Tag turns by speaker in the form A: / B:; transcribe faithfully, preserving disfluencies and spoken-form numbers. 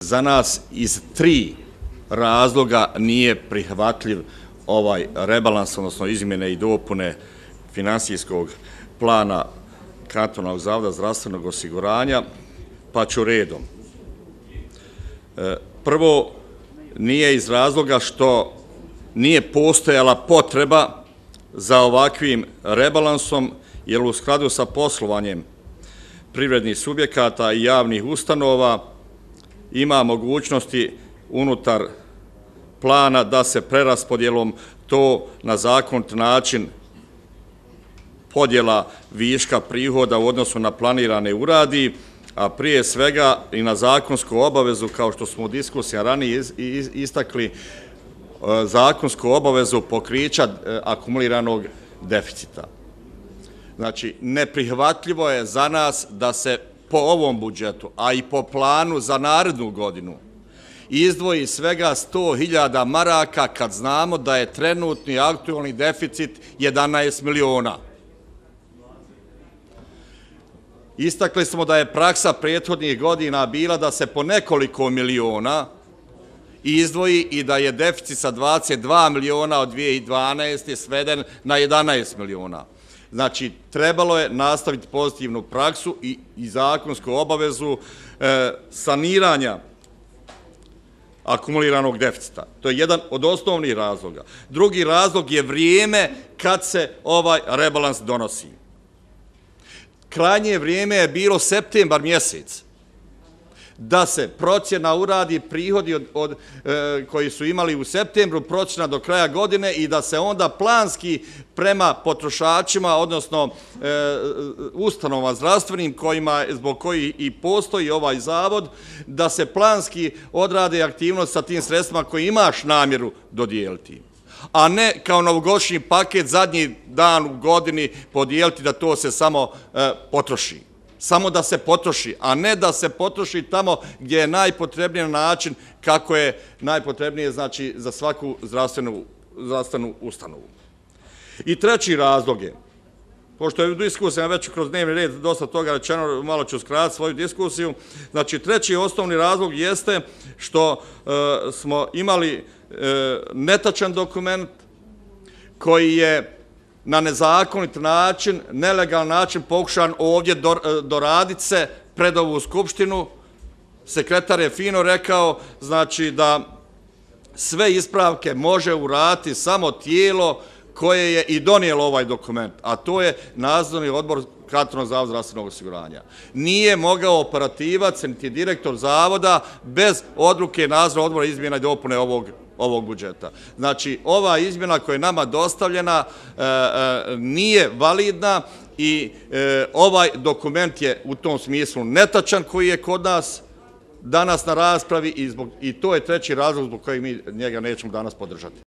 A: Za nas iz tri razloga nije prihvatljiv ovaj rebalans, odnosno izmjene i dopune finansijskog plana Kantonalnog zavoda zdravstvenog osiguranja, pa ću redom. Prvo, nije iz razloga što nije postojala potreba za ovakvim rebalansom, jer u skladu sa poslovanjem privrednih subjekata i javnih ustanova ima mogućnosti unutar plana da se preraspodjelom to na zakonit način podjela viška prihoda u odnosu na planirane uradi, a prije svega i na zakonsku obavezu, kao što smo u diskusiji ranije istakli, zakonsku obavezu pokrića akumuliranog deficita. Znači, neprihvatljivo je za nas da se po ovom budžetu, a i po planu za narednu godinu, izdvoji svega sto hiljada maraka kad znamo da je trenutni aktualni deficit jedanaest miliona. Istakli smo da je praksa prethodnih godina bila da se po nekoliko miliona izdvoji i da je deficit sa dvadeset dva miliona od dvije hiljade dvanaeste. sveden na jedanaest miliona. Znači, trebalo je nastaviti pozitivnu praksu i, i zakonsku obavezu e, saniranja akumuliranog deficita. To je jedan od osnovnih razloga. Drugi razlog je vrijeme kad se ovaj rebalans donosi. Krajnje vrijeme je bilo septembar mjesec da se procjena uradi, prihodi od, od, e, koji su imali u septembru, procjena do kraja godine i da se onda planski prema potrošačima, odnosno e, ustanova zdravstvenim kojima, zbog koji i postoji ovaj zavod, da se planski odrade aktivnost sa tim sredstvima koje imaš namjeru dodijeliti, a ne kao novogodišnji paket zadnji dan u godini podijeliti da to se samo e, potroši. Samo da se potroši, a ne da se potroši tamo gdje je najpotrebniji način kako je najpotrebnije, znači, za svaku zdravstvenu, zdravstvenu ustanovu. I treći razlog je, pošto je u diskusijama već kroz dnevni red dosta toga rečeno, malo ću skratiti svoju diskusiju, znači treći osnovni razlog jeste što e, smo imali e, netačan dokument koji je na nezakonit način, nelegalan način pokušan ovdje doraditi se pred ovu skupštinu. Sekretar je fino rekao, znači, da sve ispravke može uraditi samo tijelo koje je i donijelo ovaj dokument, a to je nadzorni odbor Kantonalnog zavoda zdravstvenog osiguranja. Nije mogao operativac, niti direktor zavoda bez odluke nadzornog odbora izmjena i dopune ovog ovog budžeta. Znači, ova izmjena koja je nama dostavljena e, e, nije validna i e, ovaj dokument je u tom smislu netačan koji je kod nas danas na raspravi i, zbog, i to je treći razlog zbog kojeg mi njega nećemo danas podržati.